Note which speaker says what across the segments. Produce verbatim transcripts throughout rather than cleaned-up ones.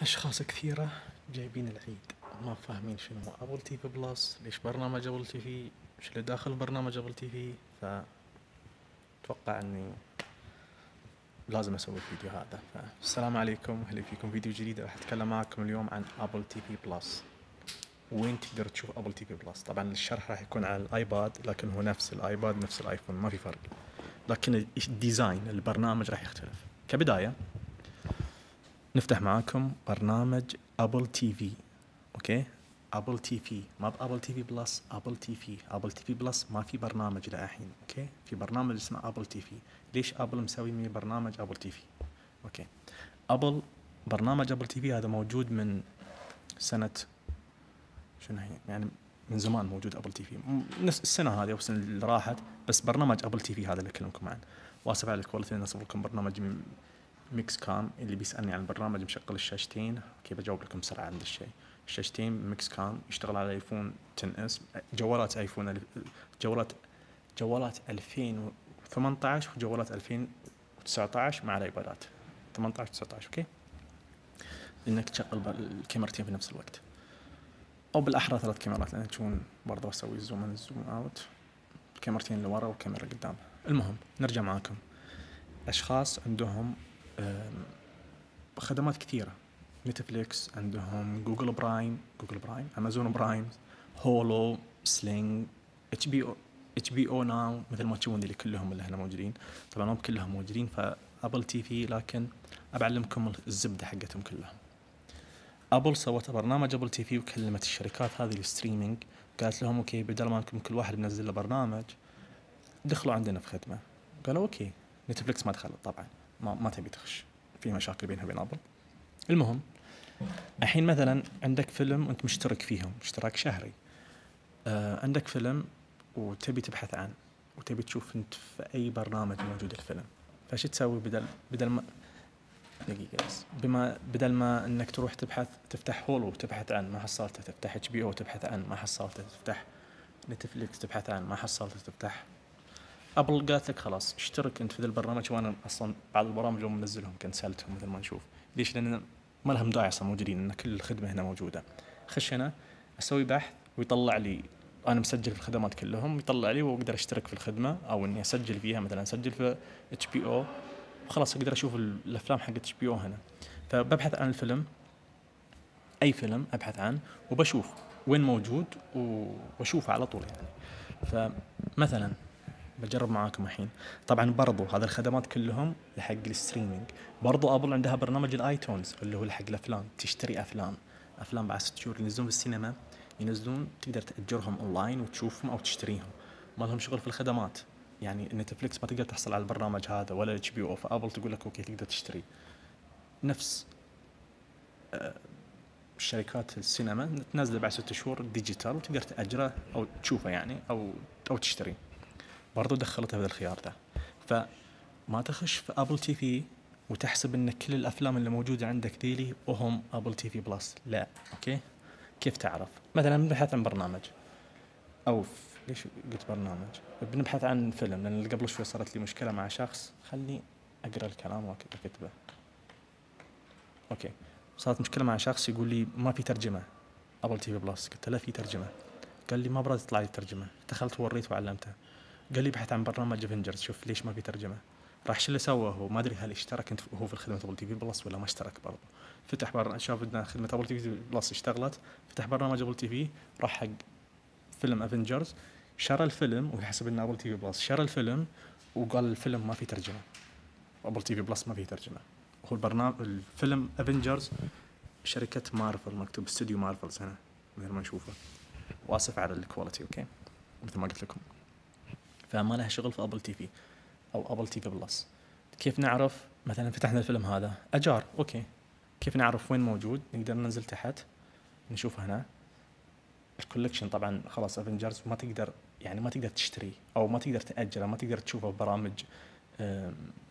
Speaker 1: أشخاص كثيرة جايبين العيد ما فاهمين شنو هو أبل تي في بلس، ليش برنامج أبل تي في، وش اللي داخل برنامج أبل تي في. فأتوقع أني لازم أسوي الفيديو هذا. فالسلام عليكم، أهلا فيكم فيديو جديد. راح أتكلم معكم اليوم عن أبل تي في بلس، وين تقدر تشوف أبل تي في بلس. طبعا الشرح راح يكون على الآيباد، لكن هو نفس الآيباد نفس الآيفون، ما في فرق، لكن الديزاين البرنامج راح يختلف. كبداية نفتح معاكم برنامج أبل تي في. اوكي، أبل تي في، ما بأبل تي في بلس، أبل تي في. أبل تي في بلس ما في برنامج للحين. اوكي، في برنامج اسمه أبل تي في. ليش أبل مسوي من برنامج أبل تي في؟ اوكي، أبل برنامج أبل تي في هذا موجود من سنة شنو هي يعني، من زمان موجود أبل تي في، نفس السنة هذه أو السنة اللي راحت. بس برنامج أبل تي في هذا اللي أكلمكم عنه. واسف على الكواليتي، أنا أصور لكم برنامج ميكس كام. اللي بيسألني عن البرنامج مشغل الشاشتين، كيف أجاوب لكم بسرعة عند الشيء. الشاشتين ميكس كام، يشتغل على ايفون عشرة اس، جوالات ايفون، جوالات جوالات ألفين وثمانية عشر وجوالات ألفين وتسعة عشر مع الايبادات ثمانية عشر تسعة عشر. اوكي، انك تشغل الكاميرتين في نفس الوقت، او بالاحرى ثلاث كاميرات، لان تشوفون برضه اسوي زوم ان زوم اوت، كاميرتين اللي ورا وكاميرا قدام. المهم نرجع معاكم. اشخاص عندهم خدمات كثيرة، نتفليكس عندهم، جوجل برايم، جوجل برايم، امازون برايم، هولو، سلينج، اتش بي او، اتش بي او ناو، مثل ما تشوفون اللي كلهم اللي هنا موجودين. طبعا هم كلهم موجودين فابل تي في، لكن أبعلمكم الزبدة حقتهم كلهم. ابل سوت برنامج ابل تي في، وكلمت الشركات هذه الستريمينج، قالت لهم اوكي، بدل ما انكم كل واحد ينزل له برنامج، دخلوا عندنا في خدمة. قالوا اوكي. نتفليكس ما دخلت طبعا، ما, ما تبي تخش، في مشاكل بينها وبين ابل. المهم الحين مثلا عندك فيلم وانت مشترك فيهم اشتراك شهري، آه عندك فيلم وتبي تبحث عنه وتبي تشوف انت في اي برنامج موجود الفيلم، فايش تسوي؟ بدل بدل ما دقيقة بس، بما بدل ما انك تروح تبحث، تفتح هولو وتبحث عن ما حصلته، تفتح اتش بي او تبحث عن ما حصلته، تفتح نتفليكس تبحث عن ما حصلته، تفتح ابل قالت لك خلاص اشترك انت في ذا البرنامج. وانا اصلا بعض البرامج اللي منزلهم كنسلتهم مثل ما نشوف. ليش؟ لان ما لهم داعي اصلا موجودين، ان كل الخدمه هنا موجوده. خش هنا اسوي بحث ويطلع لي انا مسجل في الخدمات كلهم، يطلع لي واقدر اشترك في الخدمه، او اني اسجل فيها، مثلا اسجل في اتش بي او وخلاص اقدر اشوف الافلام حق اتش بي او هنا. فببحث عن الفيلم، اي فيلم ابحث عنه وبشوف وين موجود واشوفه على طول يعني. فمثلا بجرب معاكم الحين. طبعا برضو هذا الخدمات كلهم لحق الستريمينج. برضو ابل عندها برنامج الايتونز اللي هو لحق الافلام، تشتري افلام افلام بعد ست شهور ينزلون في السينما، ينزلون تقدر تاجرهم اونلاين وتشوفهم او تشتريهم. ما لهم شغل في الخدمات يعني. نتفليكس ما تقدر تحصل على البرنامج هذا ولا اتش بي او، فابل تقول لك اوكي تقدر تشتري. نفس شركات السينما تنزله بعد ست شهور ديجيتال وتقدر تاجره او تشوفه يعني، او او تشتري. برضو دخلتها في الخيار ده. فما تخش في ابل تي في وتحسب ان كل الافلام اللي موجوده عندك ذيلي وهم ابل تي في بلس، لا. اوكي، كيف تعرف؟ مثلا بنبحث عن برنامج، او ليش قلت برنامج، بنبحث عن فيلم، لان اللي قبل شوي صارت لي مشكله مع شخص، خلني اقرا الكلام واكتبه. اوكي، صارت مشكله مع شخص يقول لي ما في ترجمه ابل تي في بلس. قلت له في ترجمه. قال لي ما براد تطلع لي الترجمه. دخلت وريته وعلمته، قال لي ابحث عن برنامج افنجرز، شوف ليش ما في ترجمه. راح شو اللي سوى هو، ما ادري هل اشترك انت هو في الخدمه ابل تي في بلس ولا ما اشترك برضه. فتح برنامج، شاف ان خدمه ابل تي في بلس اشتغلت، فتح برنامج ابل تي في، راح حق فيلم افنجرز، شرى الفيلم ويحسب ان ابل تي في بلس، شرى الفيلم وقال الفيلم ما في ترجمه، ابل تي في بلس ما في ترجمه. هو البرنامج الفيلم افنجرز شركه مارفل، مكتوب استوديو مارفل هنا مثل ما نشوفه. واسف على الكواليتي. اوكي، مثل ما قلت لكم، فما لها شغل في ابل تي في او ابل تي في بلس. كيف نعرف؟ مثلا فتحنا الفيلم هذا اجار، اوكي، كيف نعرف وين موجود؟ نقدر ننزل تحت نشوف هنا الكولكشن. طبعا خلاص افنجرز ما تقدر يعني ما تقدر تشتري او ما تقدر تاجره، ما تقدر تشوفه ببرامج.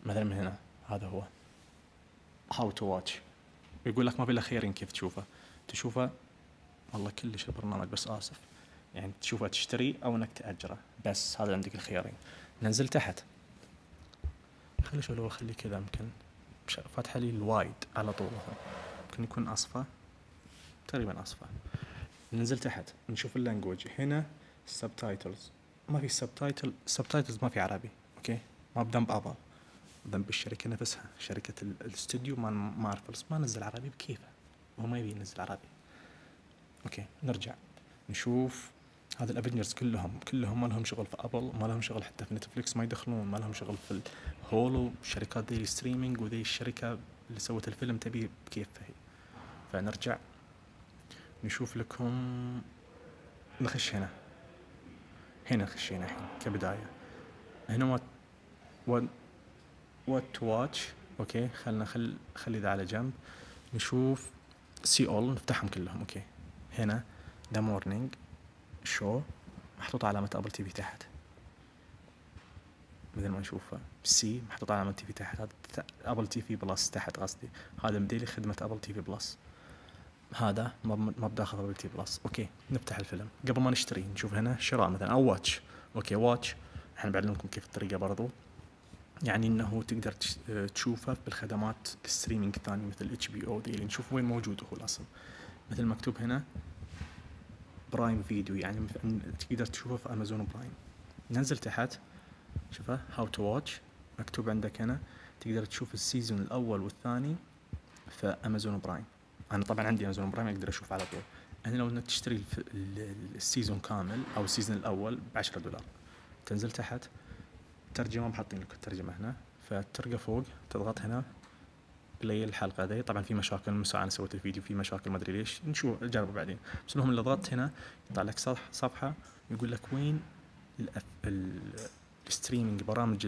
Speaker 1: مثلا من هنا هذا هو هاو تو واتش، يقول لك ما في الا خيارين كيف تشوفه. تشوفه والله كلش البرنامج، بس اسف يعني، تشوفه تشتري او انك تاجره، بس هذا عندك الخيارين. ننزل تحت، خلي شو لو اخلي كذا، يمكن فاتحه لي الوايد على طول. ممكن يكون اصفى، تقريبا اصفى. ننزل تحت نشوف اللانجوج، هنا السبتايتلز ما في سبتايتل، سبتايتلز ما في عربي. اوكي، ما بذنب ابل، ذنب الشركه نفسها، شركه الاستوديو ما ما اعرف ما نزل عربي بكيفه، هو ما يبي ينزل عربي. اوكي نرجع نشوف هذا الافنجرز كلهم كلهم ما لهم شغل في ابل، ما لهم شغل حتى في نتفليكس، ما يدخلون، ما لهم شغل في الهولو، شركات ذي الستريمينج وذي الشركه اللي سوت الفيلم تبي بكيفها هي. فنرجع نشوف لكم، نخش هنا هنا خشينا الحين كبدايه. هنا وات وات وات تو واتش. اوكي خلنا خل خلي ذا على جنب. نشوف سي اول، نفتحهم كلهم. اوكي هنا ذا مورنينج شو محطوط علامة ابل تي في تحت مثل ما نشوفه، سي محطوط علامة تي في تحت، هذا ابل تي في بلس تحت قصدي، هذا مديلي خدمة ابل تي في بلس، هذا ما بداخل ابل تي بلس. اوكي نفتح الفيلم قبل ما نشتري، نشوف هنا شراء مثلا او واتش. اوكي واتش احنا بعلمكم كيف الطريقة برضو، يعني انه تقدر تشوفه بالخدمات الستريمينج الثانية مثل اتش بي او، ذي اللي نشوف وين موجود هو الاصل، مثل مكتوب هنا برايم فيديو، يعني تقدر تشوفه في امازون برايم. ننزل تحت شوفه هاو تو واتش، مكتوب عندك هنا تقدر تشوف السيزون الاول والثاني في امازون برايم. انا طبعا عندي امازون برايم اقدر اشوف على طول. هنا لو انك تشتري السيزون كامل او السيزون الاول بعشرة دولار. تنزل تحت ترجمة، محطين لك الترجمة هنا، فترقى فوق تضغط هنا بلاي الحلقة ذي. طبعا في مشاكل من ساعة انا سويت الفيديو في مشاكل ما ادري ليش، نشوف نجربه بعدين. بس المهم اللي ضغطت هنا يطلع لك صفحة يقول لك وين الستريمينج، برامج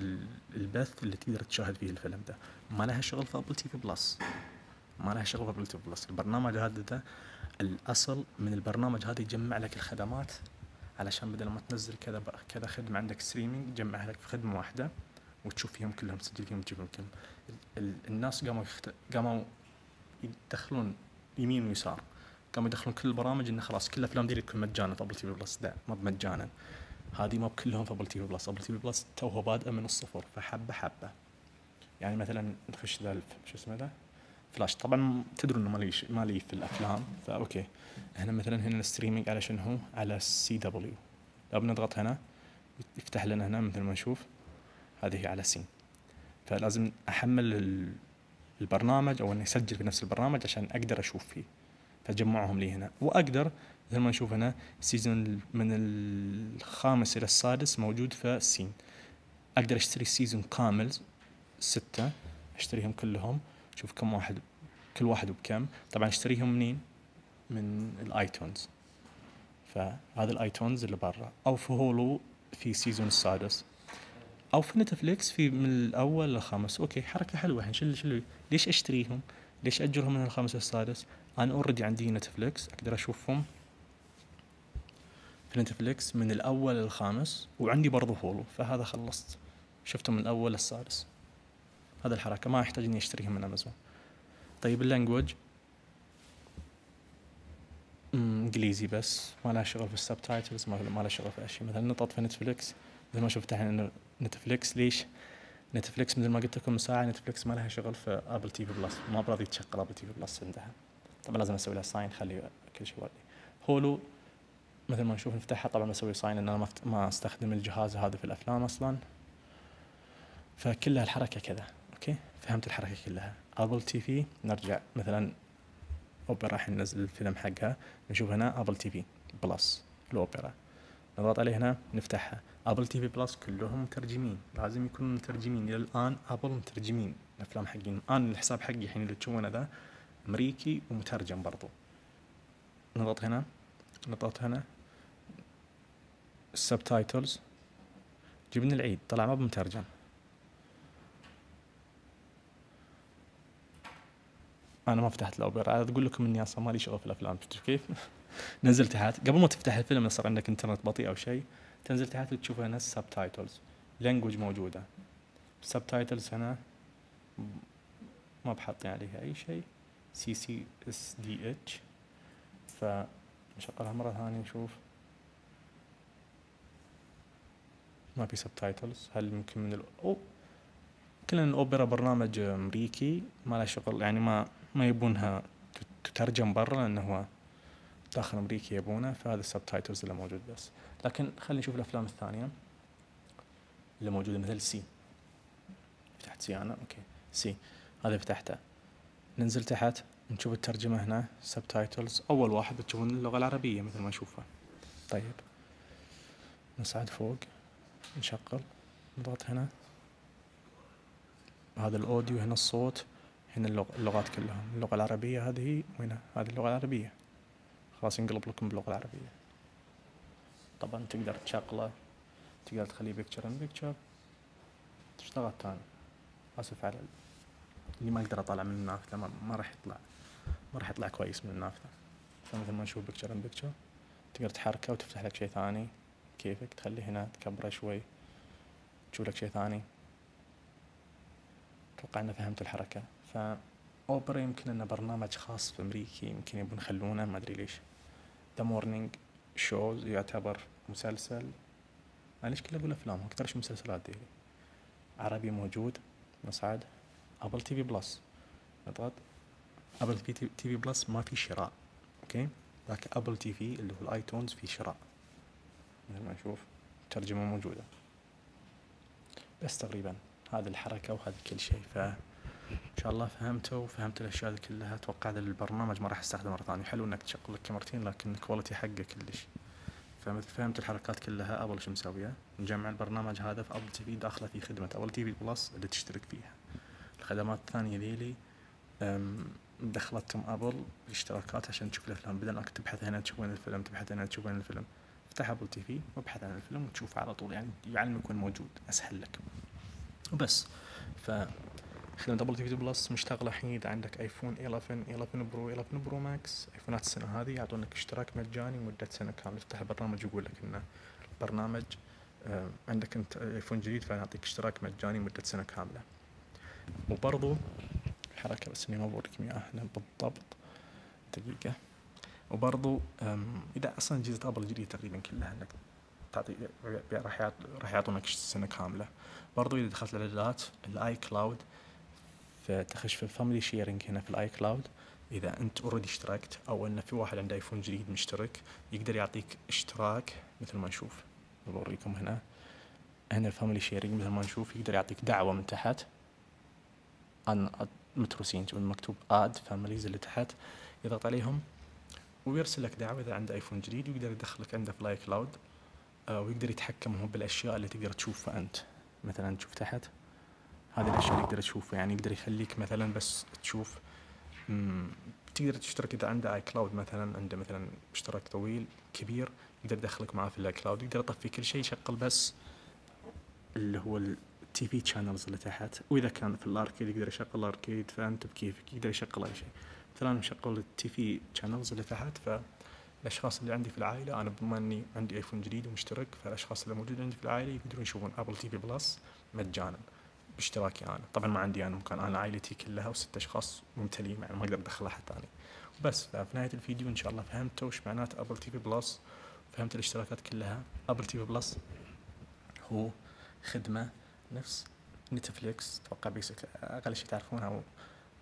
Speaker 1: البث اللي تقدر تشاهد فيه الفيلم ده. ما لها شغل في ابل تي في بلس، ما لها شغل في ابل تي في بلس. البرنامج هذا ده الاصل من البرنامج هذا يجمع لك الخدمات، علشان بدل ما تنزل كذا كذا خدمة عندك ستريمينج يجمعها لك في خدمة واحدة وتشوف فيهم كلهم، تسجل فيهم وتجيبهم كلهم. الناس قاموا يخت... قاموا يدخلون يمين ويسار، قاموا يدخلون كل البرامج انه خلاص كل الافلام دي تكون مجانا في ابل تي في بلس. لا ما بمجانا، هذه ما بكلهم في ابل تي في بلس. ابل تي في بلس توه بادئه من الصفر، فحبه حبه. يعني مثلا نخش ذا شو اسمه ذا فلاش، طبعا تدرون انه مالي مالي في الافلام، فاوكي هنا مثلا هنا الستريمينج على شنو هو على سي دبليو، لو بنضغط هنا يفتح لنا هنا مثل ما نشوف هذه على سين. فلازم احمل البرنامج او اني اسجل في نفس البرنامج عشان اقدر اشوف فيه، فجمعهم لي هنا. واقدر مثل ما نشوف هنا سيزون من الخامس الى السادس موجود في سين، اقدر اشتري السيزون كامل ستة، اشتريهم كلهم، شوف كم واحد كل واحد وبكم. طبعا اشتريهم منين؟ من الايتونز، فهذا الايتونز اللي برا، او في هولو في سيزون السادس، او في نتفليكس في من الاول للخامس. اوكي حركه حلوه الحين. شل شل ليش اشتريهم؟ ليش اجرهم من الخامس للسادس؟ انا اوريدي عندي نتفليكس اقدر اشوفهم في نتفليكس من الاول للخامس، وعندي برضو هولو، فهذا خلصت شفتهم من الاول للسادس. هذا الحركه ما احتاج اني اشتريهم من امازون. طيب اللانجوج انجليزي بس، ما لها شغل في السبتايتلز، ما لها شغل في اشياء. مثلا نطط في نتفليكس مثل ما شفت الحين نتفليكس، ليش نتفليكس مثل ما قلت لكم من ساعه نتفليكس ما لها شغل في ابل تي في بلس، ما براضي تشغل ابل تي في بلس عندها. طبعا لازم اسوي لها ساين خلي كل شيء واضح. هولو مثل ما نشوف نفتحها، طبعا بسوي ساين ان انا ما ما استخدم الجهاز هذا في الافلام اصلا، فكلها الحركه كذا. اوكي فهمت الحركه كلها. ابل تي في نرجع مثلا اوبرا، راح ننزل الفيلم حقها، نشوف هنا ابل تي في بلس الاوبرا، نضغط عليه هنا نفتحها. ابل تي في بلس كلهم مترجمين، لازم يكونوا مترجمين. الى الان ابل مترجمين الافلام حقين. انا الحساب حقي الحين اللي تشوفونه ذا امريكي ومترجم برضو. نضغط هنا نضغط هنا السبتايتلز، جبنا العيد طلع ما بمترجم. انا ما فتحت الاوبرا، تقول لكم اني اصلا مالي شغل في الافلام. شفتوا كيف؟ نزل تحت قبل ما تفتح الفيلم صار عندك انترنت بطيء او شيء، تنزل تحت وتشوف هنا السبتايتلز، لانجوج موجوده. السبتايتلز هنا ما بحطين عليها اي شيء، سي سي اس دي اتش، فنشغلها مره ثانيه نشوف ما في سبتايتلز. هل يمكن من الأو كلنا الاوبرا برنامج امريكي ما له شغل، يعني ما ما يبونها تترجم برا لأنه هو داخل أمريكا يبونه، فهذا السبتايتلز اللي موجود بس. لكن خلينا نشوف الأفلام الثانية اللي موجودة مثل سي. فتحت سي أنا، أوكي سي هذا فتحته. ننزل تحت نشوف الترجمة هنا سبتايتلز. أول واحد بتشوفون اللغة العربية مثل ما نشوفها. طيب نصعد فوق نشغل نضغط هنا، هذا الأوديو هنا الصوت هنا اللغات كلها. اللغة العربية هذه وهنا هذه اللغة العربية، خلاص ينقلب لكم باللغة العربية. طبعا تقدر تشغله، تقدر تخليه بيكتشر ان بيكتشر. تشتغل تاني. آسف على اللي ما أقدر أطلع من النافذة، ما, ما راح يطلع ما راح يطلع كويس من النافذة. فمثل ما نشوف بيكتشر ان بيكتشر تقدر تحركه وتفتح لك شيء ثاني كيفك، تخليه هنا تكبره شوي تشوف لك شيء ثاني. أتوقع أن فهمت الحركة. فأوبرا يمكن أنه برنامج خاص في أمريكا، يمكن يبون يخلونه، ما أدري ليش. ذا مورنينج شوز يعتبر مسلسل، أنا ليش كله أقول أفلام أكثر شيء مسلسلات دي. عربي موجود. نصعد أبل تي في بلس، نضغط أبل تي في بلس ما في شراء، أوكي، لكن أبل تي في اللي هو الآيتونز في شراء مثل ما نشوف. ترجمة موجودة بس تقريبا هذه الحركة وهذا كل شيء. فإن شاء الله فهمته وفهمت الأشياء دي كلها. أتوقع هذا البرنامج ما راح استخدمه مرة ثانية. حلو إنك تشغل لك كاميرتين لكن الكواليتي حقه كلش. فمثل فهمت الحركات كلها. أبل شو مسوية؟ نجمع البرنامج هذا في أبل تي في، داخله في خدمة أبل تي في بلس اللي تشترك فيها. الخدمات الثانية ذيلي دخلتهم أبل الاشتراكات عشان تشوف الأفلام، بدل أنك تبحث هنا تشوف وين الفيلم، تبحث هنا تشوف وين الفيلم. افتح أبل تي في وابحث عن الفيلم وتشوفه على طول، يعني يعلمك وين موجود، أسهل لك وبس. فخدمة أبل تي في بلس مشتغلة الحين. إذا عندك آيفون إحدى عشر إحدى عشر برو إحدى عشر برو ماكس، آيفونات السنة هذه يعطونك اشتراك مجاني مدة سنة كاملة. تفتح البرنامج يقول لك إنه البرنامج عندك أنت آيفون جديد فنعطيك اشتراك مجاني مدة سنة كاملة. وبرضو حركة بس إني ما بوريكم إياها هنا بالضبط، دقيقة. وبرضو إذا أصلا أجهزة أبل الجديدة تقريبا كلها إنك تعطي راح يعط راح يعطونك سنة كاملة. برضو إذا دخلت الإعدادات الآي كلاود، فتخش في الفاميلي شيرينج هنا في الآي كلاود. إذا أنت أوريدي اشتركت أو إن في واحد عنده آيفون جديد مشترك، يقدر يعطيك اشتراك مثل ما نشوف. بوريكم هنا هنا الفاميلي شيرينج مثل ما نشوف، يقدر يعطيك دعوة من تحت عن متروسين مكتوب آد فاميليز اللي تحت، يضغط عليهم ويرسل لك دعوة إذا عنده آيفون جديد، ويقدر يدخلك عنده في الآي كلاود. آه ويقدر يتحكم هو بالأشياء اللي تقدر تشوفها أنت. مثلا تشوف تحت هذه الأشياء اللي يقدر تشوفها، يعني يقدر يخليك مثلا بس تشوف. تقدر تشترك إذا عنده آي كلاود، مثلا عنده مثلا اشتراك طويل كبير، يقدر يدخلك معاه في الآي كلاود. يقدر يطفي كل شيء، يشغل بس اللي هو التي في channels اللي تحت. وإذا كان في الأركيد يقدر يشغل الأركيد، فأنت بكيفك يقدر يشغل أي شيء. مثلا أنا مشغل التي في channels اللي تحت، فالأشخاص اللي عندي في العائلة، أنا بما أني عندي آيفون جديد ومشترك، فالأشخاص اللي موجود عندي في العائلة يقدرون يشوفون أبل تي في بلس مجانا باشتراكي أنا. طبعا ما عندي أنا مكان، أنا عائلتي كلها وست أشخاص ممتلين، يعني ما أقدر أدخل أحد ثاني. بس في نهاية الفيديو إن شاء الله فهمتوا وش معنات أبل تي في بلس، فهمت الاشتراكات كلها. أبل تي في بلس هو خدمة نفس نتفليكس، اتوقع بيسك اقل شيء تعرفونها، او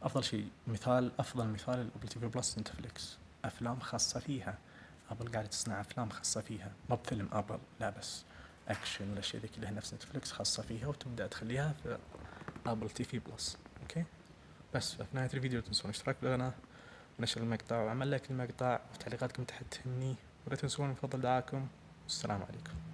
Speaker 1: افضل شيء مثال افضل مثال الابل تي في بلس نتفليكس. افلام خاصه فيها، ابل قاعده تصنع افلام خاصه فيها، ما بفيلم ابل لا، بس اكشن والاشياء ذي كلها نفس نتفليكس خاصه فيها، وتبدا تخليها في ابل تي في بلس. اوكي بس في نهايه الفيديو لا تنسون الاشتراك بالقناه ونشر المقطع وعمل لايك للمقطع، وتعليقاتكم تحت تهمني، ولا تنسون من فضل دعاكم. والسلام عليكم.